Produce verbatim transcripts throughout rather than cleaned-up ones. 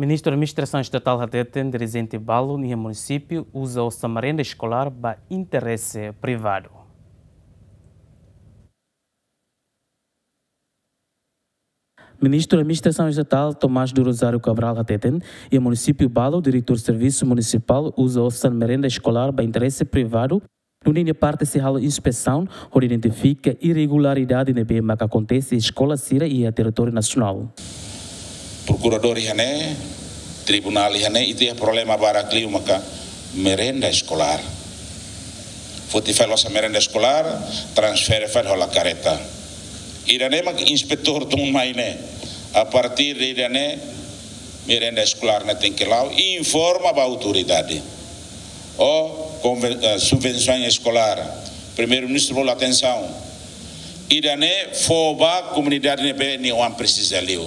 Ministru Administrasaun Estatál hateten dirijente balun iha munisípiu uza osan merenda eskolár ba interese privadu. Ministru Administrasaun Estatál Tomás do Rosário Cabral hateten, iha munisípiu balu diretór servisu munisipál uza osan merenda eskolár ba interese privadu, nune'e nia parte sei halo inspesaun hodi identifika irregularidade ne'ebé maka akontese iha eskola sira iha territóriu nasionál. Prokuradór iha ne'e, tribunál iha ne'e, ita iha problema barak liu maka merenda eskolár. Foti fali osan merenda eskolár, transfere fali hola kareta. Ida-ne'e mak inspetór tun mai ne'e. A partir de ida-ne'e, merenda eskolár ne'e tenke la'o informa ba autoridade. Ou konven-, eh, subvensaun eskolár. Primeiru-Ministru bolu atensaun. Ida-ne'e fó ba komunidade ne'ebé nia oan presiza liu.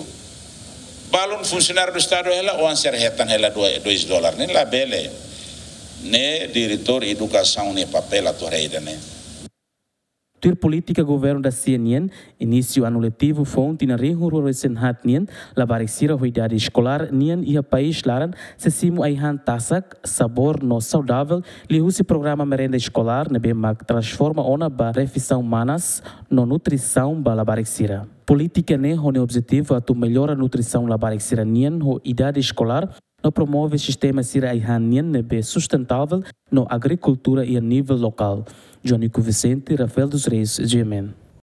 Balun funsionáriu do Estadu hela, oan sira hetan hela dua, dois dólar. Ne'e labele. Ne'e diretór edukasaun nia papél atu haree ida-ne'e. Tuir polítika governu dasia nian, inísiu anu letivu foun tinan rihun rua resin haat nian, labarik sira ho idade eskolár nian iha país laran sei simu ai-han tasak, sabór no saudavel, liuhusi programa merenda eskolár ne'ebé mak transforma ona ba refeisaun manas no nutrisaun ba labarik sira. Polítika ne'e ho nia objetivu atu mellora nutrisaun labarik sira nian ho idade eskolár, no promove sistema sira ai-han nian ne'ebé sustentável no agrikultura iha nivel lokál. João Nico Vicente, Rafael dos Reis, G M N.